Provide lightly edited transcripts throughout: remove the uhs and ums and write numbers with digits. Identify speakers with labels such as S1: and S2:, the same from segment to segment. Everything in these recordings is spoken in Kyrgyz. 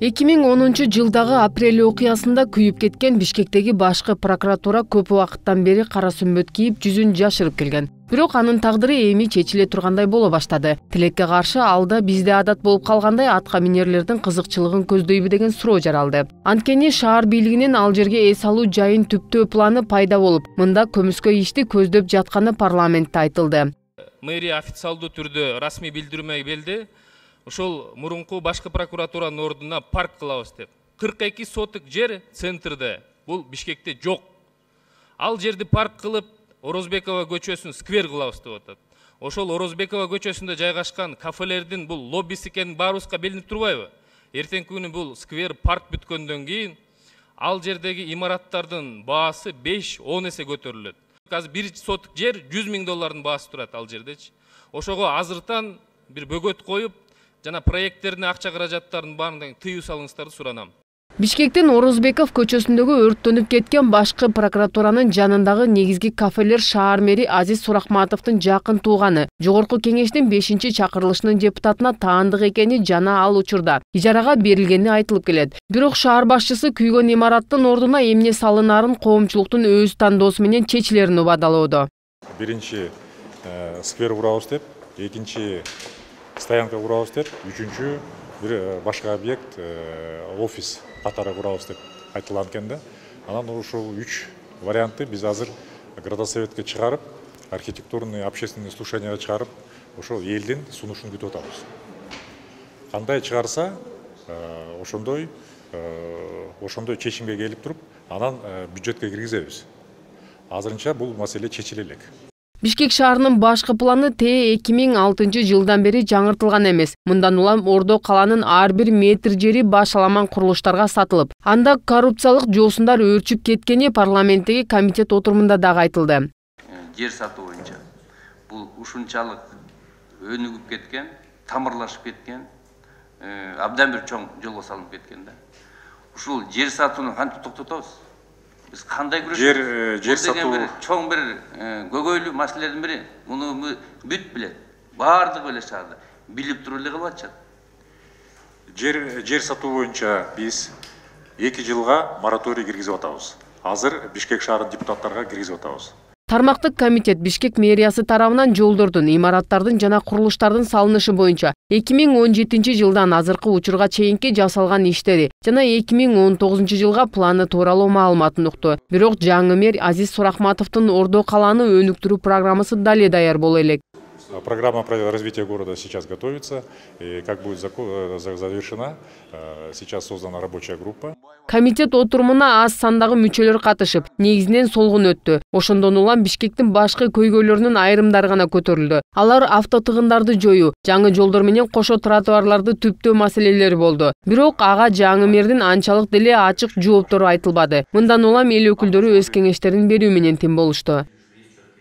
S1: 2010-жылдагы апрель окуясында күйүп кеткен Бишкектеги башкы прокуратура көп убакыттан бери кара сүмбөт кийип жүзүн жашырып келген. Бирок анын тагдыры эми чечиле тургандай боло баштады. Тилекке каршы алда бизде адат болуп калгандай атка минерлердин кызыкчылыгын көздөйбү деген суроо жаралды. Анткени шаар бийлигинин ал жерге эс алуу жайын түптөө планы пайда болуп, мында көмүскө ишти көздөп жатканы парламентте айтылды.
S2: Мэрия официалдуу түрдө расмий билдирме берди. Ошол мурунку башкы прокуратуранын ордуна парк кылабыз деп. 42 соток жер центрде, бул Бишкекте жок. Ал жерди парк кылып, Орозбекова көчөсүн сквер кылабыз деп атат. Ошол Орозбекова көчөсүндө жайгашкан кафелердин бул лоббиси экени баарыбызга билинип турбайбы? Эртеңки күнү бул сквер парк бүткөндөн кийин ал жердеги имараттардын баасы 5-10 эсе көтөрүлөт. Азыр 1 соток жер $100,000 баасы турат ал жердечи. Ошого азыртан бир бөгөт коюп, жана проекттерине акча каражаттарын баарын тыюу салыңыздарды суранам.
S1: Бишкектин Орозбеков көчөсүндөгү өрттөнүп кеткен башкы прокуратуранын жанындагы негизги кафелер шаар мэри Азиз Сурахматовдун жакын тууганы, жогорку кеңештин 5-чакырылышынын депутатына таандык экени жана ал учурда ижарага берилгени айтылып келет. Бирок шаар башчысы күйгөн имараттын ордуна эмне салынарын коомчулуктун өз тандоосу менен чечилерин убадалоодо.
S3: Биринчи сквер курабыз деп, экинчи стоянка курабыз деп, үчүнчү бир башка объект офис катары курабыз деп айтылган экен да. Анан ушул 3 вариантты биз азыр градосоветке чыгарып, архитектурный общественный слушанияга чыгарып, ошол элдин сунушун күтүп атабыз. Кандай чыгарса, ошондой чечимге келип туруп, анан бюджетке киргизебиз. Азырынча бул маселе чечиле элек.
S1: Бишкек шаарынын башкы планы 2006-жылдан бери жаңыртылган эмес. Мындан улам Ордо каланын ар бир метр жери башаламан курулуштарга сатылып, анда коррупциялык жоосундар өрчүп кеткени парламенттеги комитет отурумунда дагы айтылды.
S4: Жер сатуу боюнча бул ушунчалык өнүгүп кеткен, тамырлашып кеткен, абдан бир чоң жолго салынып кеткен да. Ушул жер сатууну кантип токтотобуз? Biz qanday kurashamiz?
S3: Жер сатуу
S4: чоң бир көйгөйлүү маселелердин бири. Муну бүт билет. Баардыгы эле шаарда билип туруп эле калып атышат.
S3: Жер сатуу боюнча биз 2 жылга мораторий киргизип атабыз. Азыр Бишкек шаарынын депутаттарга киргизип атабыз.
S1: Тармактык комитет Бишкек мэриясы тарабынан жолдордун, имараттардын жана курулуштардын салынышы боюнча 2017-жылдан азыркы учурга чейинки жасалган иштери жана 2019-жылга планы тууралуу маалыматын укту. Бирок жаңы мэр Азиз Сурахматовдун Ордо калааны өнүктүрүү программасы дале даяр боло элек.
S3: Программа развития города сейчас готовится, и как будет завершена, сейчас создана рабочая группа.
S1: Комитет отурумуна аз сандагы мүчөлөр катышып, негизинен солгун өттү. Ошондон улам Бишкектин башкы көйгөйлөрүнүн айрымдары гана көтөрүлдү. Алар автотыгындарды жоюу, жаңы жолдор менен кошо тротуарларды түптөө маселелери болду. Бирок ага жаңы мэрдин анчалык деле ачык жооптору айтылбады. Мындан улам эл өкүлдөрү өз кеңештерин берүү менен тим болушту.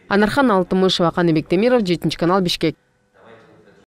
S1: Анархан Алтымышева, Каныбек Темиров, 7 канал, Бишкек.